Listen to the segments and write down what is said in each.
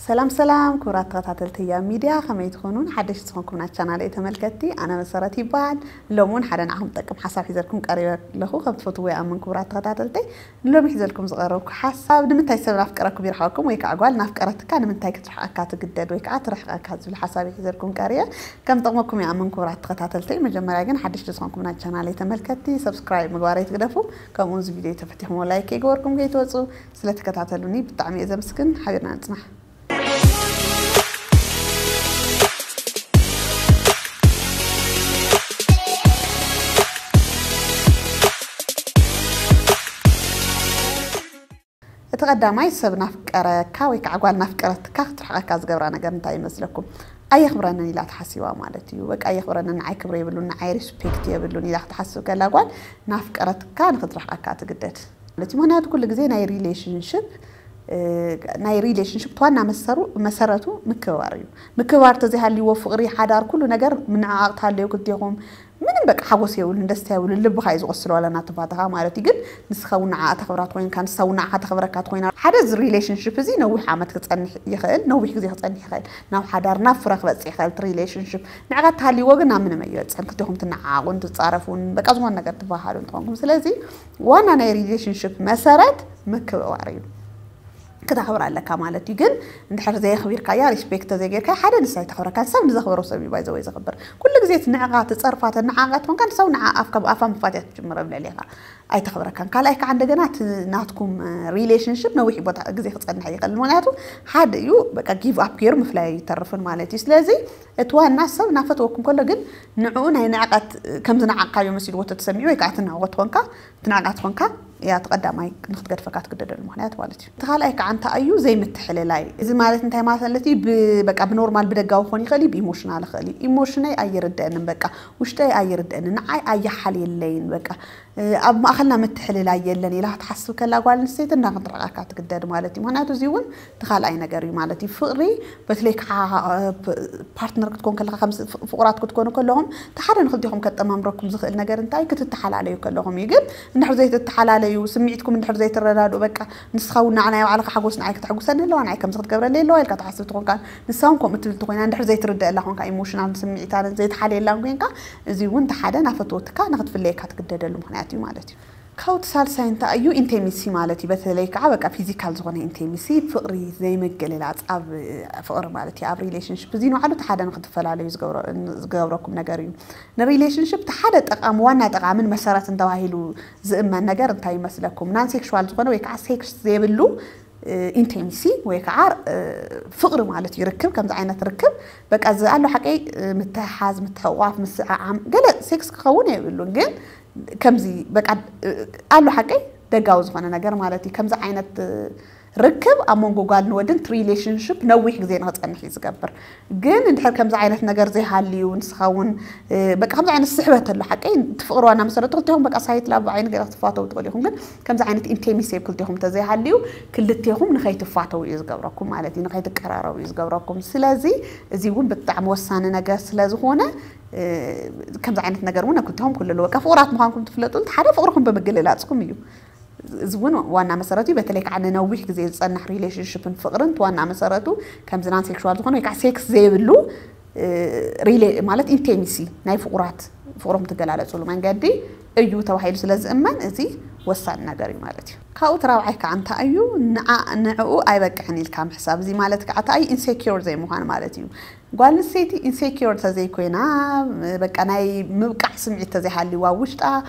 ሰላም ሰላም ክቡራት ተኸታተልቲ ህያብ ሚድያ፣ ከመይ ትኾኑን ሓደሽቲ ዝኾንኩም ናብ ቻናለይ ተመልከትቲ? ኣነ መሰረት ይበሃል። ሎም እውን ሓደ ንዓኹም ዝጠቅም ሓሳብ ሒዘልኩም ቀሪበ ኣለኹ። ከም ትፈትዎ ይኣምን ክቡራት ተኸታተልተይ። ንሎሚ ሒዘልኩም ዝቐረብኩ ሓሳብ፣ ንምንታይ ሰብ ናፍቀረኩም ይርሕቐኩም ወይ ከዓ ጓል ናፍቀረትካ ንምንታይ ክትርሕቐካ ትግደድ ወይ ከዓ ትርሕቐካ ዝብል ሓሳብ እየ ሒዘልኩም ቀሪበ። ከም ጠቕመኩም ይኣምን ክቡራት ተኸታተልተይ። መጀመርያ ግን ሓደሽቲ ዝኾንኩም ናብ ቻናለይ ተመልከትቲ ሰብስክራይብ ምግባር ኣይትግደፉ። ከምኡ እዚ ቪድዮ ተፈቲኹሞ ላይክ ይገበርኩም ከይትወፁ። ስለተከታተሉኒ ብጣዕሚ እየ ዘመስግን። ሓቢርና ንጽናሕ። እቲ ቀዳማይ ሰብ ናፍቀረካ ወይ ከዓ ጓል ናፍቀረትካ ክትርሕቀካ ዝገብራ ነገር እንታይ ይመስለኩም? ኣየኽብረንን ኢላ ተሓሲባ ማለት እዩ። በቃ ኣየኽብረንን፣ ንዓይ ክብሪ የብሉን፣ ንዓይ ሪስፔክት የብሉን ኢላ ክትሓስብ ከላ ጓል ናፍቀረትካ ንክትርሕቀካ ትግደድ ማለት እዩ። ምክንያቱ ኩሉ ግዜ ናይ ሪሌሽንሽፕ ናይ ሪሌሽንሽፕ ዋና መሰሩ መሰረቱ ምክብባር እዩ። ምክብባር ተዘይሃልይዎ ፍቕሪ፣ ሓዳር፣ ኩሉ ነገር ምንዕዓቕ ተሃልዮ ክልቴኹም ምንም በቃ ሓጎስ የብሉን፣ ደስታ የብሉን፣ ልብኻ እዩ ዝቆስል ዋላ እናተፋተኻ ማለት እዩ። ግን ንስኻ እውን ንዓኣ ተኽብራ ትኾይንካ፣ ንሳ እውን ንዓኻ ተኽብረካ ትኾይና። ሓደ እዚ ሪሌሽንሽፕ እዚ ነዊሕ ዓመት ክጸንሕ ይኽእል፣ ነዊሕ ግዜ ክጸንሕ ይኽእል፣ ናብ ሓዳር ናብ ፍረ ክበጽሕ ይኽእል እቲ ሪሌሽንሽፕ። ንዕቀት ተሃልይዎ ግን ናብ ምንም ኣይበጽሕን። ክልቴኹም ትነዓዓቑን ትጻረፉን በቃ ዝኾነ ነገር ትበሃሃሉ እንትኾንኩም። ስለዚ ዋና ናይ ሪሌሽንሽፕ መሰረት ምክብባር እዩ። ክተኽብር ኣለካ ማለት እዩ። ግን እንድሕር ዘየኽቢርካያ፣ ሪስፔክት ተዘይጌርካ፣ ሓደ ንሳ ኣይተኽብረካን። ሰብ ንዘኽበሮ ሰብ እዩ ባይዘወይ ዘኽብር። ኩሉ ግዜ እቲ ንዕቓ ትጸርፋ ተነዓቓ ትኾንካ ንሰው ንዓ ኣፍካ ብኣፋ ምፋትያ ትጅምር ኣብ ልዕሌኻ ኣይተኽብረካን። ካልኣይ ከዓ እንደገና እቲ ናትኩም ሪሌሽንሽፕ ነዊሕ ቦታ ግዜ ክጸንሕ ይኽእል። ምክንያቱ ሓደ እዩ በቃ ጊቭ ኣፕ ገይሩ ምፍላይ ኣይተርፍን ማለት እዩ። ስለዚ እቲ ዋና ሰብ እናፈተወኩም ከሎ ግን ንዕኡ ናይ ንዕቐት ከም ዝነዓቕካዮ መሲልዎ ተተሰሚዑ ወይ ከዓ ትንዕቖ ትኾንካ ትንዕቃ ትኾንካ እያ እቲ ቀዳማይ ንክትገድፈካ ትግደደሉ ምክንያት ማለት እዩ። እቲ ካልኣይ ከዓ እንታይ እዩ? ዘይምትሕልላይ። እዚ ማለት እንታይ ማለት እዩ? ብ-፣ በቃ ብኖርማል ብደጋዊ ክኾን ይኽእል እዩ፣ ብኢሞሽናል ይኽእል እዩ። ኢሞሽነይ ኣይርደአንን፣ በቃ ውሽጠይ ኣይርደአንን፣ ንዓይ ኣይሓልየለይን፣ በቃ፣ እ፣ ኣብ ማእኸልና ምትሕልላይ የለን ኢላ ክትሓስብ ከላ ጓል ኣንስተይቲ እንዳ ክትርሕቃካ ትግደድ ማለት እዩ። ምክንያቱ እዚ እውን እቲ ካልኣይ ነገር እዩ ማለት እዩ። ፍቕሪ በተለይ ከዓ፣ እ፣ ፕ-፣ ፓርትነር ክትኮን ከለኻ፣ ከም ፍ-፣ ፍቑራት ክትኮኑ ከለኹም፣ እቲ ሓደ ንክልቴኹም ከጠማምረኩም ዝኽእል ነገር እንታይ? ክትተሓላለዩ ከለኹም እዩ። ግን እንድሕር ዘይትተሓላለዩ፣ ስምዒትኩም እንድሕር ዘይትረዳድኡ፣ በቃ ንስኻ እውን ንዓ ናይ ባዕልኻ ሓጎስ ንዓይ ክተሐጉሰኒ ኣለዋ፣ ንዓይ ከምዚ ክትገብረለይ ኣለዋ ኢልካ ትሓስብ ትኾንካ፣ ንሳ እውን ከምኡ ትብል ትኾይና፣ እንድሕር ዘይትርደአላ ኾንካ፣ ኢሞሽናል ስምዒታን ዘይትሓልየላን ኮይንካ፣ እዚ እውን እቲ ሓደ ናፈትወትካ ንክትፍለየካ ትግደደሉ ምኽንያት እዩ ማለት እዩ። ካብቲ ሳልሳይ እንታይ እዩ? ኢንቴሚሲ ማለት እዩ። በተለይ ከዓ በቃ ፊዚካል ዝኾነ ኢንቴሚሲ፣ ፍቕሪ ዘይምግልላፅ ኣብ ፍቕሪ ማለት እዩ። ኣብ ሪሌሽንሽፕ እዚ ንባዕሉ እቲ ሓደ ንክትፈላለዩ ዝገብረ-፣ ዝገብረኩም ነገር እዩ። ንሪሌሽንሽፕ እቲ ሓደ ጠቓሚ፣ ዋና ጠቓምን መሰረትን ተባሂሉ ዝእመን ነገር እንታይ ይመስለኩም? ናን ሴክሹዋል ዝኾነ ወይ ከዓ ሴክስ ዘይብሉ፣ እ፣ ኢንቴሚሲ ወይ ከዓ፣ እ፣ ፍቕሪ ማለት እዩ። ርክብ፣ ከምዚ ዓይነት ርክብ በቃ እዚ ኣሎ ሓቀይ፣ እ፣ ምትሕሓዝ፣ ምትሕቋፍ፣ ምስዕዓም፣ ገለ ሴክስ ክኸውን የብሉን፣ ግን ከምዚ በቃ፣ እ፣ ኣሎ ሓቀይ ደጋዊ ዝኾነ ነገር ማለት እዩ። ከምዚ ዓይነት፣ እ፣ ርክብ ኣብ መንጎ ጓልን ወድን እቲ ሪሌሽንሽፕ ነዊሕ ግዜ ንክጸንሕ እዩ ዝገብር። ግን እንድሕር ከምዚ ዓይነት ነገር ዘይሃልዩ፣ ንስኻ እውን፣ እ፣ በቃ ከምዚ ዓይነት ስሕበት ኣሎ ሓቀይ፣ እቲ ፍቕሪ ዋና መሰረቱ ክልቴኹም በቃ ሳይት ላቭ ብዓይኒ ገለ ክትፋተው ትኽእሉ ኢኹም። ግን ከምዚ ዓይነት ኢንቴሚሲ ኣብ ክልቴኹም እንተዘይሃልዩ፣ ክልቴኹም ንኸይትፋተው እዩ ዝገብረኩም ማለት እዩ፣ ንኸይትቀራረቡ እዩ ዝገብረኩም። ስለዚ እዚ እውን ብጣዕሚ ወሳኒ ነገር ስለ ዝኾነ፣ እ፣ ከምዚ ዓይነት ነገር እውን ኣብ ክልቴኹም ክህሉ ኣለዎ። በቃ ፍቑራት ምዃንኩም ትፍለጡ፣ እቲ ሓደ ፍቕርኹም ብምግልላጽኩም እዩ። እዚ እውን ዋና መሰረቱ እዩ። በተለይ ከዓ ንነዊሕ ግዜ ዝጸንሕ ሪሌሽንሽፕን ፍቕርን እቲ ዋና መሰረቱ ከምዚ ናን ሴክሹዋል ዝኾነ ወይ ከዓ ሴክስ ዘይብሉ፣ እ፣ ሪሌ-፣ ማለት ኢንቴሚሲ ናይ ፍቑራት ፍቕሮም ትገላለጹሉ መንገዲ እዩ ተባሂሉ ስለ ዝእመን እዚ ወሳኒ ነገር እዩ ማለት እዩ። ካብኡ እቲ ራብዓይ ከዓ እንታይ እዩ? ንዓ-፣ ንዕኡ ኣይበቅዕን ኢልካ ምሕሳብ። እዚ ማለት ከዓ እንታይ እዩ? ኢንሴኪር ዘይምዃን ማለት እዩ። ጓል ኣንስተይቲ ኢንሴኪር ተዘይኮይና፣ በቃ ናይ ምብቃዕ ስምዒት ተዘይሃልይዋ ውሽጣ፣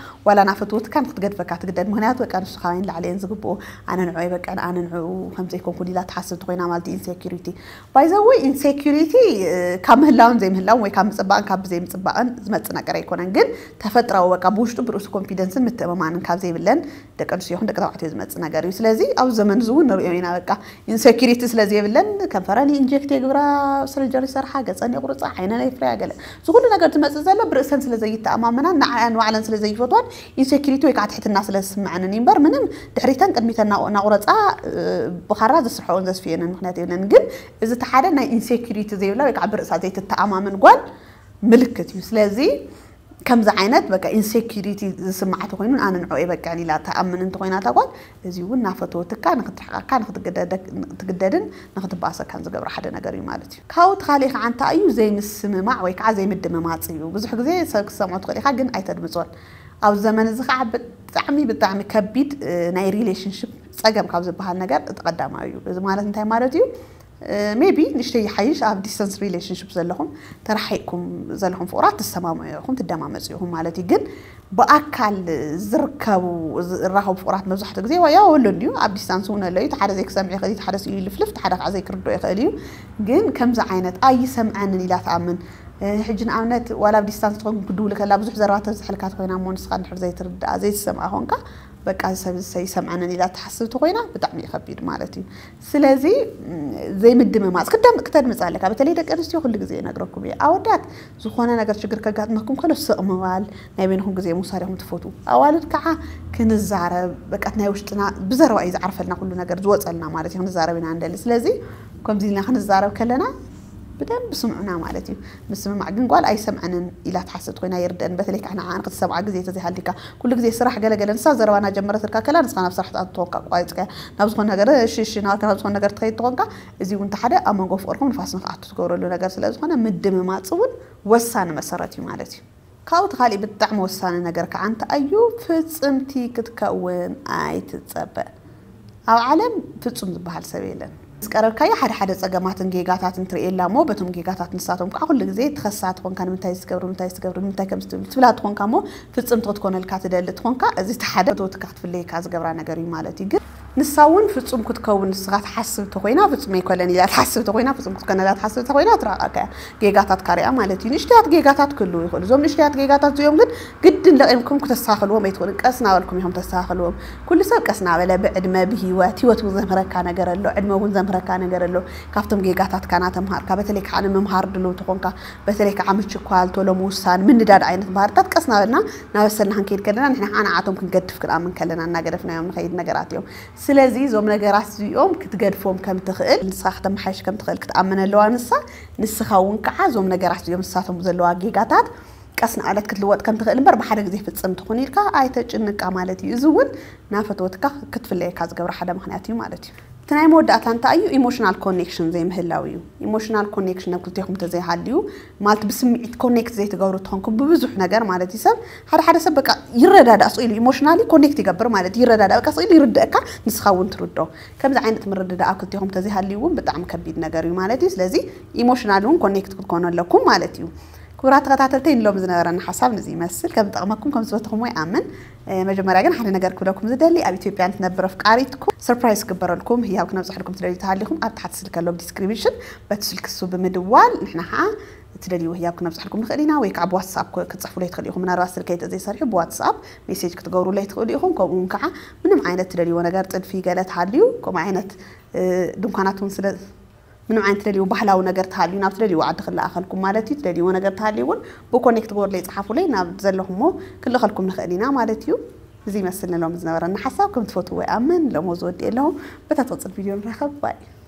ዋላ ናፈትወትካ ንክትገድፈካ ትግደድ። ምክንያቱ በቃ ንሱ ካባይን ላዕለየን ዝግብኦ፣ ኣነ ንዕኡ ኣይበቅዕን፣ ኣነ ንዕኡ ከምዘይኮንኩን ኢላ ትሓስብ ትኾይና ማለት እዩ ኢንሴኪሪቲ። ባይ ዘ ወይ ኢንሴኪሪቲ፣ እ፣ ካብ ምህላውን ዘይምህላውን ወይ ካብ ምጽባቕን ካብ ዘይምጽባቕን ዝመጽእ ነገር ኣይኮነን። ግን ተፈጥራዊ በቃ ብውሽጡ ብርእሱ ኮንፊደንስን ምትእምማንን ካብ ዘይብለን ደቂ ኣንስትዮ ይኹን ደቂ ተባዕትዮ ዝመጽእ ነገር እዩ። ስለዚ ኣብዚ ዘመን እዚ እውን ንሪኦ ኢና፣ በቃ ኢንሴኪሪቲ ስለ ዘይብለን ከንፈረን ኢንጀክት የግብራ፣ ሰርጀሪ ሰርሓ፣ ገጸን የቑርጻ፣ ዓይነን የፍርያ፣ ገለ እዚ ኩሉ ነገር ዝመጽእ ዘሎ ብርእሰን ስለ ዘይተኣማመናን ንዓኣን ባዕለን ስለ ዘይፈትዋን ኢንሴኪሪቲ ወይ ከዓ ትሕትና ስለ ዝስምዐንን እዩ እምበር ምንም ድሕሪተን ቅድሚተን እናቑ-፣ እናቑረጻ፣ እ፣ ብኻራ ዘስርሐኦን ዘስፍየንን ምኽንያት የብለን። ግን እዚ እቲ ሓደ ናይ ኢንሴኪሪቲ ዘይብላ ወይ ከዓ ብርእሳ ዘይትተኣማመን ጓል ምልክት እዩ። ስለዚ ከምዚ ዓይነት በቃ ኢንሴኪሪቲ ዝስምዓ ተኮይኑ ኣነ ንዕኡ የበቅዕን ኢላ ትኣምን እንተኮይና እታ ጓል፣ እዚ እውን እናፈተወትካ ንክትርሕቀካ ንክትግደደክ- ንክትግደድን ንክትበኣሰካን ዝገብራ ሓደ ነገር እዩ ማለት እዩ። ካብኡ እቲ ካሊእ ከዓ እንታይ እዩ? ዘይምስምማዕ ወይ ከዓ ዘይምድምማፅ እዩ። ብዙሕ ግዜ ሰብ ክሰምዖ ትኽእል ኢካ፣ ግን ኣይተድምፆን። ኣብ ዘመን እዚ ከዓ ብጣዕሚ ብጣዕሚ ከቢድ ናይ ሪሌሽንሽፕ ፀገም ካብ ዝበሃል ነገር እቲ ቀዳማዊ እዩ። እዚ ማለት እንታይ ማለት እዩ? ሜቢ ንሽተይ ይሓይሽ ኣብ ዲስተንስ ሪሌሽንሽፕ ዘለኹም፣ ተረሓይቅኩም ዘለኹም ፍቑራት ትሰማምዑ ኢኹም፣ ትደማመፁ ኢኹም ማለት እዩ። ግን ብኣካል ዝርከቡ ዝራኸቡ ፍቑራት መብዛሕትኡ ግዜ ዋያ ወሎ እንዲዩ ኣብ ዲስታንስ እውን ኣሎ እዩ። ሓደ ዘይክሰምዕ ይኽእል እዩ፣ ሓደ ስኢሉ ይልፍልፍ፣ ሓደ ከዓ ዘይክርዶ ይኽእል እዩ። ግን ከምዚ ዓይነት ኣይሰምዐንን ኢላ ትኣምን። ሕጂ ንኣብነት ዋላ ኣብ ዲስታንስ ትኾን ክድውል ከላ ብዙሕ ዘረባ ተብዝሐልካ ትኮይና እሞ ንስኻ እንድሕር ዘይትርድኣ ዘይትሰምዓ ኮንካ በቃ እዚ ሰብ እዚ ይሰምዐንን ኢላ ትሓስብ ተኮይና ብጣዕሚ እዩ ከቢድ ማለት እዩ። ስለዚ ዘይምድምማፅ ክተድምፅ ኣለካ። በተለይ ደቂ ኣንስትዮ ኩሉ ግዜ ይነግረኩም እየ፣ ኣወዳት ዝኾነ ነገር ችግር ከጋጥመኩም ከሎ ስቕ ምባል ናይ በይንኹም ግዜ ምውሳድ ኢኹም ትፈትዉ። ኣዋልድ ከዓ ክንዛረብ በቃ ናይ ውሽጥና ብዘረባ እዩ ዝዓርፈልና ኩሉ ነገር ዝወፀልና ማለት እዩ። ክንዛረብ ኢና ንደሊ። ስለዚ ከምዚ ኢልና ክንዛረብ ከለና ብደንብ ስምዑና ማለት እዩ። ምስምማዕ ግን ጓል ኣይሰምዐንን ኢላ ትሓስብ ኮይና ይርደን። በተለይ ከዓ ንዓን ክትሰምዓ ግዜ ተዘይሃልካ ኩሉ ግዜ ስራሕ ገለገለ ንሳ ዘረባና ጀመረትልካ ከላ ንስኻ ናብ ስራሕ ትኣቱ ተኾንካ ኣቋሪፅካ ናብ ዝኾነ ነገር ሽሽ ናብካ ናብ ዝኾነ ነገር ትኸይድ ተኾንካ እዚ እውን ሓደ ኣብ መንጎ ፍቅርኩም ንፋስ ንክኣቱ ትገብረሉ ነገር ስለ ዝኾነ ምድምማፅ እውን ወሳኒ መሰረት እዩ ማለት እዩ። ካብኡ እቲ ካሊእ ብጣዕሚ ወሳኒ ነገር ከዓ እንታይ እዩ? ፍፅምቲ ክትከውን ኣይትፀበ። ኣብ ዓለም ፍፁም ዝበሃል ሰብ የለን። ዝቀረብካዮ ሓደ ሓደ ፀገማትን ጌጋታትን ትርእየላ እሞ በቶም ጌጋታት ንሳቶም ከዓ ኩሉ ግዜ ትኸሳ ትኾንካ ንምንታይ ዝገብሩ ንምንታይ ዝገብሩ ንምንታይ ከም ዝትብል ትብላ ትኾንካ እሞ ፍፅምቲ ክትኮነልካ ትደሊ ትኾንካ እዚ እቲ ሓደ ፈተወትካ ክትፍለየካ ዝገብራ ነገር እዩ ማለት እዩ። ግን ንሳ እውን ፍፁም ክትከውን ንስኻ ትሓስብ ተኮይና ፍፁም ኣይኮለን ኢላ ትሓስብ ተኮይና ፍፁም ክትኮነላ ትሓስብ ተኮይና ትራቃካ እያ። ጌጋታት ካሪያ ማለት እዩ። ንእሽተያት ጌጋታት ክህልዉ ይኽእሉ። እዞም ንእሽተያት ጌጋታት እዚኦም ግን ግድን ለቒምኩም ክተስተኻኽልዎም ኣይትኽእሉን። ቀስ እናበልኩም ኢኹም ተስተኻኽልዎም። ኩሉ ሰብ ቀስ እናበለ ብዕድመ ብህይወት ህይወት እውን ዘምህረካ ነገር ኣሎ፣ ዕድመ እውን ዘምህረካ ነገር ኣሎ። ካብቶም ጌጋታትካ ናተምሃርካ በተለይ ከዓ ንምምሃር ድልው ተኾንካ በተለይ ከዓ ምችኳል ቶሎ ምውሳን ምንዳድ ዓይነት ባህርታት ቀስ እናበልና እናበሰልና ክንከይድ ከለና ንሕና ከዓ ንዓቶም ክንገድፍ ክንኣምን ከለና እናገደፍናዮም ንኸይድ ነገራት እዮም። ስለዚ እዞም ነገራት እዚኦም ክትገድፎም ከም ትኽእል ንስኻ ክተመሓይሽ ከም ትኽእል ክትኣምን ኣለዋ ንሳ። ንስኻ እውን ከዓ እዞም ነገራት እዚኦም ንሳቶም ዘለዋ ጌጋታት ቀስ እናበለት ክትልወጥ ከም ትኽእል እምበር ብሓደ ግዜ ፍፅም ትኹን ኢልካ ኣይተጭንቃ ማለት እዩ። እዚ እውን ናፈተወትካ ክትፍለየካ ዝገብራ ሓደ ምክንያት እዩ ማለት እዩ። እቲ ናይ መወዳእታ እንታይ እዩ? ኢሞሽናል ኮኔክሽን ዘይምህላው እዩ። ኢሞሽናል ኮኔክሽን ኣብ ክልቴኹም ተዘይሃልዩ ማለት ብስምዒት ኮኔክት ዘይትገብሩ ትኾንኩም ብብዙሕ ነገር ማለት እዩ። ሰብ ሓደ ሓደ ሰብ በቃ ይረዳዳእ ስኢሉ ኢሞሽናሊ ኮኔክት ይገብር ማለት ይረዳዳእ በቃ ስኢሉ ይርድእካ ንስኻ እውን ትርዶ። ከምዚ ዓይነት ምርድዳእ ኣብ ክልቴኹም ተዘይሃልዩ እውን ብጣዕሚ ከቢድ ነገር እዩ ማለት እዩ። ስለዚ ኢሞሽናሊ እውን ኮኔክት ክትኮኑ ኣለኩም ማለት እዩ። ክቡራት ተኸታተልተይ ንሎም ዝነበረና ሓሳብ ንዚ ይመስል ከም ዝጠቕመኩም ከም ዝበትኹም ወይ ኣምን። መጀመርያ ግን ሓደ ነገር ክብለኩም ዝደሊ ኣብ ኢትዮጵያ ንትነብር ኣፍቃሪትኩም ሰርፕራይዝ ክግበረልኩም ህያብ ክነብፅሐልኩም ትደልዩ ተሃሊኹም ኣብ ታሕቲ ስልከ ኣሎ ዲስክሪፕሽን በቲ ስልኪ እሱ ብምድዋል ንሕና ከዓ ትደልይዎ ህያብ ክነብፅሐልኩም ንኽእል ኢና ወይ ከዓ ብዋትስኣፕ ክትፅሕፉለይ ትኽእል ኢኹም። ምናልባት ስልከይ ተዘይሰሪሑ ብዋትስኣፕ ሜሴጅ ክትገብሩለይ ትኽእሉ ኢኹም። ከምኡ እውን ከዓ ምንም ዓይነት ትደልይዎ ነገር ጥልፊ ገለ ተሃልዩ ከምኡ ዓይነት ድንኳናት እውን ስለ ምንም ዓይነት ትደልይዎ ባህላዊ ነገር ተሃልዩ ናብ ትደልይዎ ዓዲ ክለኣኸልኩም ማለት እዩ። ትደልይዎ ነገር ተሃልዩ እውን ብኮኔክት ግበሩለይ ፅሓፉለይ ናብ ዘለኹሞ ክንልእኸልኩም ንኽእል ኢና ማለት እዩ። እዚ ይመስል ንሎም ዝነበረና ሓሳብ ከም ትፈትዎ ይኣምን። ሎሞ ዝወዲ ኣለኹም በታ ትቕፅል ቪድዮ ንራኸብ ባይ